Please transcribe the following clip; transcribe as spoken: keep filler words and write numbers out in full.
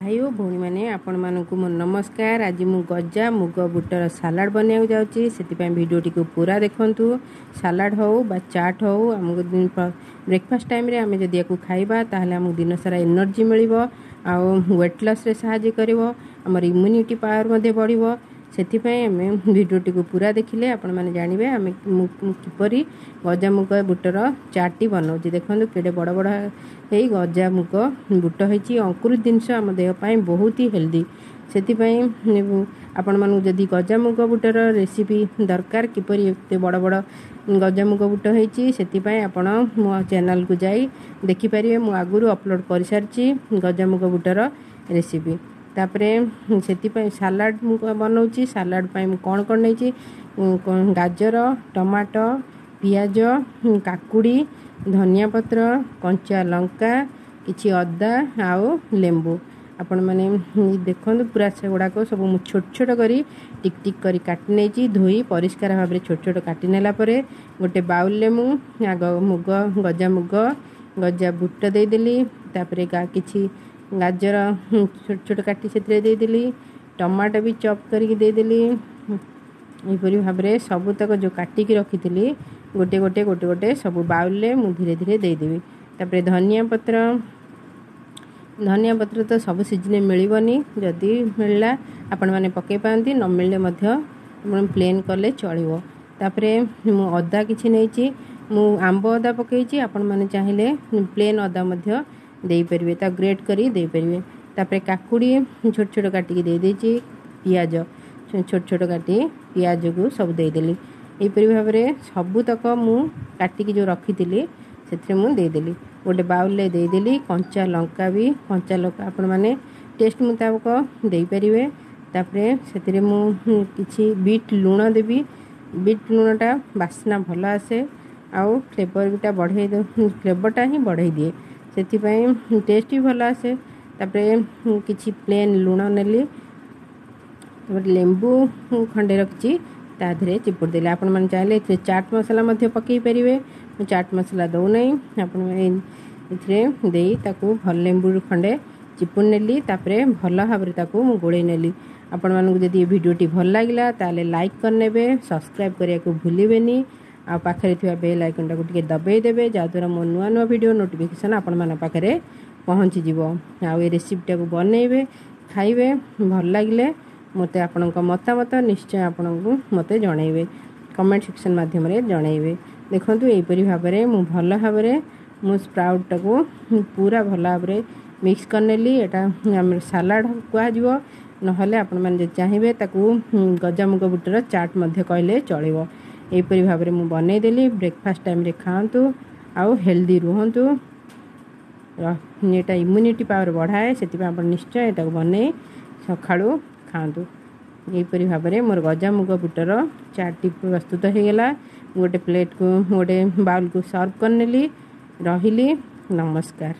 ଭାଇ ଓ ଭଉଣୀମାନେ, ଆପଣମାନଙ୍କୁ ମୋ ନମସ୍କାର। ଆଜି ମୁଁ ଗଜା ମୁଗ ବୁଟର ସାଲାଡ଼ ବନେଇବାକୁ ଯାଉଛି, ସେଥିପାଇଁ ଭିଡ଼ିଓଟିକୁ ପୁରା ଦେଖନ୍ତୁ। ସାଲାଡ଼ ହେଉ ବା ଚାଟ୍ ହେଉ, ଆମକୁ ବ୍ରେକଫାଷ୍ଟ ଟାଇମ୍ରେ ଆମେ ଯଦି ୟାକୁ ଖାଇବା, ତାହେଲେ ଆମକୁ ଦିନସାରା ଏନର୍ଜି ମିଳିବ ଆଉ ୱେଟ୍ ଲସ୍ରେ ସାହାଯ୍ୟ କରିବ, ଆମର ଇମ୍ୟୁନିଟି ପାୱାର ମଧ୍ୟ ବଢ଼ିବ। ସେଥିପାଇଁ ଆମେ ଭିଡ଼ିଓଟିକୁ ପୁରା ଦେଖିଲେ ଆପଣମାନେ ଜାଣିବେ ଆମେ ମୁଁ କିପରି ଗଜାମୁଗ ବୁଟର ଚାଟ୍ଟି ବନାଉଛି। ଦେଖନ୍ତୁ, କେଡ଼େ ବଡ଼ ବଡ଼ ହେଇ ଗଜାମୁଗ ବୁଟ ହେଇଛି। ଅଙ୍କୁରିତ ଜିନିଷ ଆମ ଦେହ ପାଇଁ ବହୁତ ହି ହେଲ୍ଦି। ସେଥିପାଇଁ ଆପଣମାନଙ୍କୁ ଯଦି ଗଜାମୁଗ ବୁଟର ରେସିପି ଦରକାର, କିପରି ଏତେ ବଡ଼ ବଡ଼ ଗଜାମୁଗ ବୁଟ ହେଇଛି, ସେଥିପାଇଁ ଆପଣ ମୋ ଚ୍ୟାନେଲକୁ ଯାଇ ଦେଖିପାରିବେ। ମୁଁ ଆଗରୁ ଅପଲୋଡ଼ କରିସାରିଛି ଗଜାମୁଗ ବୁଟର ରେସିପି। ତାପରେ ସେଥିପାଇଁ ସାଲାଡ଼ ମୁଁ ବନାଉଛି। ସାଲାଡ଼ ପାଇଁ ମୁଁ କ'ଣ କ'ଣ ନେଇଛି? ଗାଜର, ଟମାଟୋ, ପିଆଜ, କାକୁଡ଼ି, ଧନିଆ ପତ୍ର, କଞ୍ଚା ଲଙ୍କା, କିଛି ଅଦା ଆଉ ଲେମ୍ବୁ। ଆପଣମାନେ ଦେଖନ୍ତୁ, ପୁରା ସେଗୁଡ଼ାକ ସବୁ ମୁଁ ଛୋଟ ଛୋଟ କରି ଟିକ୍ ଟିକ୍ କରି କାଟି ନେଇଛି। ଧୋଇ ପରିଷ୍କାର ଭାବରେ ଛୋଟ ଛୋଟ କାଟି ନେଲା ପରେ ଗୋଟେ ବାଉଲରେ ମୁଁ ଆଗ ମୁଗ, ଗଜା ମୁଗ, ଗଜା ବୁଟ ଦେଇଦେଲି। ତାପରେ କିଛି ଗାଜର ଛୋଟ ଛୋଟ କାଟି ସେଥିରେ ଦେଇଦେଲି। ଟମାଟୋ ବି ଚପ୍ କରିକି ଦେଇଦେଲି। ଏହିପରି ଭାବରେ ସବୁତକ ଯେଉଁ କାଟିକି ରଖିଥିଲି, ଗୋଟେ ଗୋଟେ ଗୋଟେ ଗୋଟେ ସବୁ ବାଉଲରେ ମୁଁ ଧୀରେ ଧୀରେ ଦେଇଦେବି। ତାପରେ ଧନିଆ ପତ୍ର। ଧନିଆ ପତ୍ର ତ ସବୁ ସିଜିନରେ ମିଳିବନି। ଯଦି ମିଳିଲା ଆପଣମାନେ ପକାଇ ପାରନ୍ତି, ନ ମିଳିଲେ ମଧ୍ୟ ଆପଣ ପ୍ଲେନ୍ କଲେ ଚଳିବ। ତାପରେ ମୁଁ ଅଦା କିଛି ନେଇଛି। ମୁଁ ଆମ୍ବ ଅଦା ପକାଇଛି, ଆପଣମାନେ ଚାହିଁଲେ ପ୍ଲେନ୍ ଅଦା ମଧ୍ୟ ଦେଇପାରିବେ, ତାକୁ ଗ୍ରେଟ୍ କରି ଦେଇପାରିବେ। ତାପରେ କାକୁଡ଼ି ଛୋଟ ଛୋଟ କାଟିକି ଦେଇଦେଇଛି। ପିଆଜ ଛୋଟ ଛୋଟ କାଟି ପିଆଜକୁ ସବୁ ଦେଇଦେଲି। ଏହିପରି ଭାବରେ ସବୁତକ ମୁଁ କାଟିକି ଯେଉଁ ରଖିଥିଲି, ସେଥିରେ ମୁଁ ଦେଇଦେଲି, ଗୋଟେ ବାଉଲରେ ଦେଇଦେଲି। କଞ୍ଚା ଲଙ୍କା ବି, କଞ୍ଚା ଲଙ୍କା ଆପଣମାନେ ଟେଷ୍ଟ ମୁତାବକ ଦେଇପାରିବେ। ତାପରେ ସେଥିରେ ମୁଁ କିଛି ବିଟ୍ ଲୁଣ ଦେବି। ବିଟ୍ ଲୁଣଟା ବାସ୍ନା ଭଲ ଆସେ ଆଉ ଫ୍ଲେଭରଟା ବଢ଼େଇ, ଫ୍ଲେଭରଟା ହିଁ ବଢ଼େଇ ଦିଏ, ସେଥିପାଇଁ ଟେଷ୍ଟ ବି ଭଲ ଆସେ। ତାପରେ କିଛି ପ୍ଲେନ୍ ଲୁଣ ନେଲି। ତାପରେ ଲେମ୍ବୁ ଖଣ୍ଡେ ରଖିଛି, ତା ଦେହରେ ଚିପୁଡ଼ି ଦେଲି। ଆପଣମାନେ ଚାହିଁଲେ ଏଥିରେ ଚାଟ୍ ମସଲା ମଧ୍ୟ ପକାଇ ପାରିବେ। ମୁଁ ଚାଟ୍ ମସଲା ଦେଉନାହିଁ। ଆପଣମାନେ ଏଥିରେ ଦେଇ ତାକୁ ଭଲ ଲେମ୍ବୁ ଖଣ୍ଡେ ଚିପୁଡ଼ି ନେଲି। ତାପରେ ଭଲ ଭାବରେ ତାକୁ ମୁଁ ଗୋଳେଇ ନେଲି। ଆପଣମାନଙ୍କୁ ଯଦି ଏ ଭିଡ଼ିଓଟି ଭଲ ଲାଗିଲା, ତାହେଲେ ଲାଇକ୍ କରିନେବେ, ସବସ୍କ୍ରାଇବ୍ କରିବାକୁ ଭୁଲିବେନି ଆଉ ପାଖରେ ଥିବା ବେଲ୍ ଆଇକନ୍ଟାକୁ ଟିକେ ଦବାଇ ଦେବେ, ଯାହାଦ୍ୱାରା ମୋ ନୂଆ ନୂଆ ଭିଡ଼ିଓ ନୋଟିଫିକେସନ୍ ଆପଣମାନଙ୍କ ପାଖରେ ପହଞ୍ଚିଯିବ। ଆଉ ଏ ରେସିପିଟାକୁ ବନେଇବେ, ଖାଇବେ, ଭଲ ଲାଗିଲେ ମୋତେ ଆପଣଙ୍କ ମତାମତ ନିଶ୍ଚୟ ଆପଣଙ୍କୁ ମୋତେ ଜଣାଇବେ, କମେଣ୍ଟ ସେକ୍ସନ୍ ମାଧ୍ୟମରେ ଜଣାଇବେ। ଦେଖନ୍ତୁ, ଏହିପରି ଭାବରେ ମୁଁ ଭଲ ଭାବରେ ମୁଁ ସ୍ପ୍ରାଉଟ୍ଟାକୁ ପୁରା ଭଲ ଭାବରେ ମିକ୍ସ କରିନେଲି। ଏଇଟା ଆମର ସାଲାଡ଼ କୁହାଯିବ, ନହେଲେ ଆପଣମାନେ ଯଦି ଚାହିଁବେ ତାକୁ ଗଜାମୁଗ ବୁଟର ଚାଟ୍ ମଧ୍ୟ କହିଲେ ଚଳିବ। ଏହିପରି ଭାବରେ ମୁଁ ବନେଇଦେଲି। ବ୍ରେକଫାଷ୍ଟ ଟାଇମ୍ରେ ଖାଆନ୍ତୁ ଆଉ ହେଲ୍ଦି ରୁହନ୍ତୁ। ଏଇଟା ଇମ୍ୟୁନିଟି ପାୱାର ବଢ଼ାଏ, ସେଥିପାଇଁ ଆପଣ ନିଶ୍ଚୟ ଏଟାକୁ ବନେଇ ସକାଳୁ ଖାଆନ୍ତୁ। ଏହିପରି ଭାବରେ ମୋର ଗଜାମୁଗ ବୁଟର ଚାଟ୍ଟି ପ୍ରସ୍ତୁତ ହୋଇଗଲା। ମୁଁ ଗୋଟେ ପ୍ଲେଟ୍କୁ, ଗୋଟେ ବାଉଲକୁ ସର୍ଭ କରିନେଲି। ରହିଲି, ନମସ୍କାର।